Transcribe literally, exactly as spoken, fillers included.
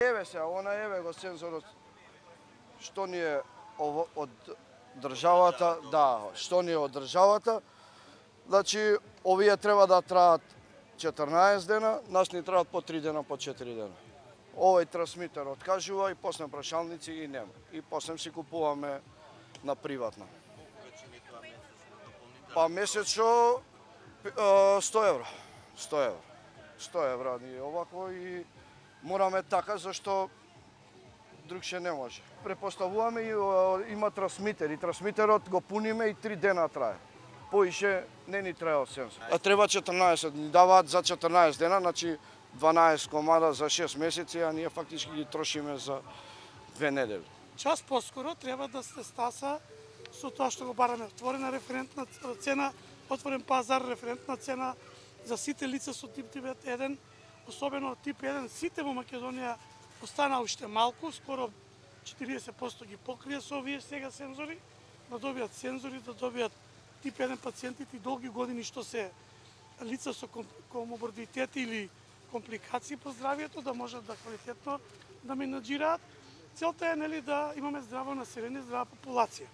Еве се, она еве го сензорот што ни е од државата, да, што ни е од државата. Значи, овие треба да траат четрнаесет дена, нас ни траат по три дена, по четири дена. Овој трансмитер откажува и после прашалници и нема. И после си купуваме на приватна. Па месечно сто евро. сто евро. сто евро ни е овако и мораме така зашто другше не може. Препоставуваме и има трансмитер и трансмитерот го пуниме и три дена трае. Поише не ни трае од сензор. А треба четрнаесет, ни даваат за четрнаесет дена, значи дванаесет комада за шест месеци, а ние фактички ги трошиме за две недели. Час поскоро треба да се стаса со тоа што го бараме. Отворена референтна цена, отворен пазар, референтна цена за сите лица со тип девет еден, особено тип еден, сите во Македонија остана уште малку, скоро четириесет проценти ги покрија со овие сега сензори, да добијат сензори, да добијат тип еден пациентите и долги години што се лица со коморбидитети или компликации по здравието, да можат да квалитетно да менаџираат. Целта е нели да имаме здраво население, здрава популација.